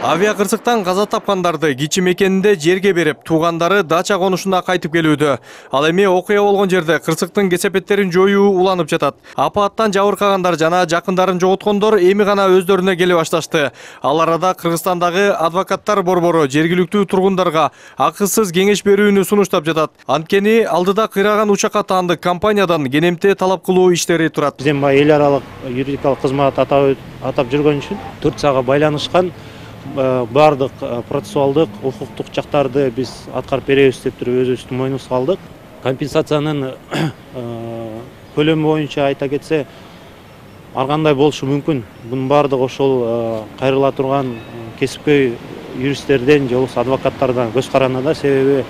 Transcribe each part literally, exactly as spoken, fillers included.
Авиа кырсыктан каза тапкандарды кичи мекенинде жерге берип, туугандары дача конушуна кайтып келүүдө. Ал эми окуя болгон жерде кырсыктын кесепеттерин жоюу уланып жатат. Апаттан жабыркагандар жана жакындарын жоготкондор эми гана өздөрүнө келе башташты. Ал арада Кыргызстандагы адвокаттар борбору жергиликтүү тургундарга акысыз кеңеш берүүнү сунуштап жатат. Анткени алдыда кыйраган учакка таандык компаниядан кенемте талап кылуу иштери турат. Биздин баягы эл аралык юридикалык кызмат атап атап жүргөн үчүн Турцияга байланышкан бардык процессуалдык укуктук жактарды биз аткарып беребиз деп туруп өзүбүздүн мойнубузга алдык. Компенсациянын көлөмү боюнча айта кетсе, ар кандай болушу мүмкүн. Бунун бардыгы ошол кайрыла турган кесипкөй юристтерден же болбосо адвокаттардан көз каранды. Себеби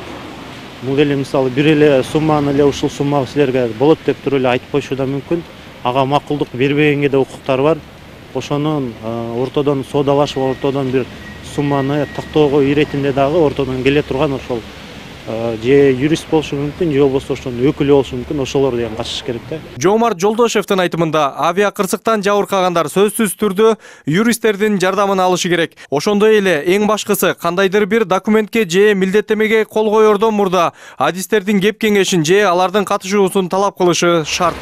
бул эле мисалы бир эле сумманы эле ушул сумма силерге болот деп туруп эле айтып коюшу да мүмкүн. Ага макулдук бербегенге да укуктары бар. Ошонун ортодон соодалашып, ортодон бир сумманы тактоого иретинде дагы ортодон келе турган ошол же юрист болушу мүмкүн, же болбосо ошонун өкүлү болушу мүмкүн, ошолор деген катышыш керек да. Жоомарт Жолдошевдин айтымында, авиа кырсыктан жабыркагандар сөзсүз түрдө юристтердин жардамын алышы керек. Ошондой эле эң башкысы кандайдыр бир документке же милдеттемеге кол коердон мурда адистердин кеп кеңешин же алардын катышуусун талап кылышы шарт.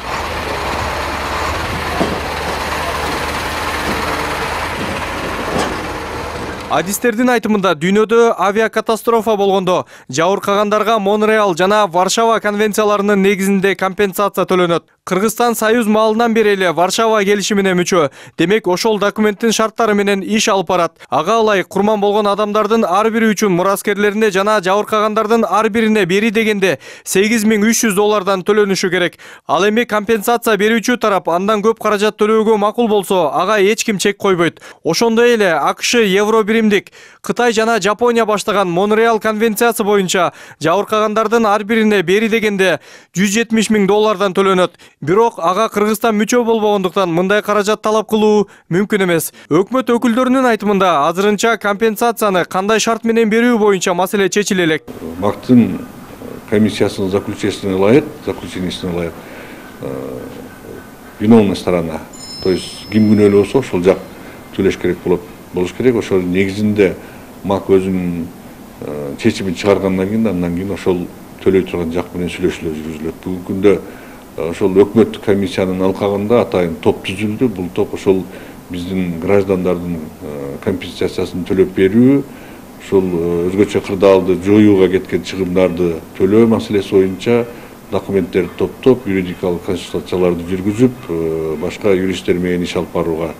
Адистердин айтымында, дүйнөдө авиакатастрофа болгондо жабыркагандарга Монреал жана Варшава конвенцияларынын негизинде компенсация төлөнөт. Кыргызстан Союз маалынан бери эле Варшава келишимине мүчө. Демек, ошол документтин шарттары менен иш алып барат. Ага ылайык курман болгон адамдардын ар бири үчүн мураскерлерине жана жабыркагандардын ар бирине бери дегенде сегиз миң үч жүз доллардан төлөнүшү керек. Ал эми компенсация берүүчү тарап андан көп каражат төлөөгө макул болсо, ага эч ким чек койбойт. Ошондой эле АКШ евро биримдик Кытай жана Жапония баштаган Монреал конвенциясы боюнча жабыркагандардын ар бирине бери дегенде жүз жетимиш миң доллардан төлөнөт. Бирок ага Кыргызстан мүчө болбогондуктан мындай каражат талап кылуу мүмкүн эмес. Өкмөт өкүлдөрүнүн айтымында, азырынча компенсацияны кандай шарт менен берүү боюнча маселе чечиле элек. МАКтын комиссиясынын заключениесине ылайык, заключениесине ылайык виновная сторона, то есть ким күнөөлүү болсо ошол жак төлөш керек болот. Болуш керек. Ошол негизинде МАК өзүнүн чечимин чыгаргандан кийин, андан кийин ошол төлөй турган жак менен сүйлөшүүлөр жүргүзүлөт. Бүгүнкү күндө ошол өкмөттүк комиссиянын алкагында атайын топ түзүлдү. Бул топ ошол биздин граждандардын компенсациясын төлөп берүү, ошол өзгөчө кырдаалды жоюуга кеткен чыгымдарды төлөө маселеси боюнча документтерди топтоп, юридикалык консультацияларды жүргүзүп, башка юристтер менен иш алып барууга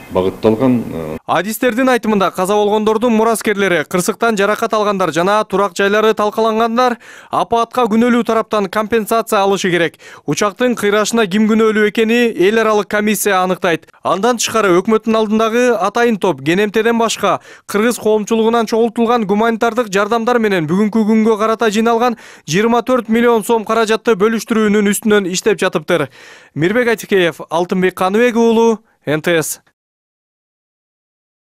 багытталган. Адистердин айтымында, каза болгондордун мураскерлери, кырсыктан жаракат алгандар жана турак жайлары талкалангандар апатка күнөөлүү тараптан компенсация алышы керек. Учактын кыйрашына ким күнөөлүү экени эл аралык комиссия аныктайт. Андан тышкары өкмөттүн алдындагы атайын топ кенемтеден башка кыргыз коомчулугунан чогултулган гуманитардык жардамдар менен бүгүнкү күнгө карата жыйналган жыйырма төрт миллион сом каражатты бөлүштүрүүнүн үстүнөн иштеп жатыптыр. Мирбек Айтикеев, Алтынбек Каныбек уулу, эн тэ эс.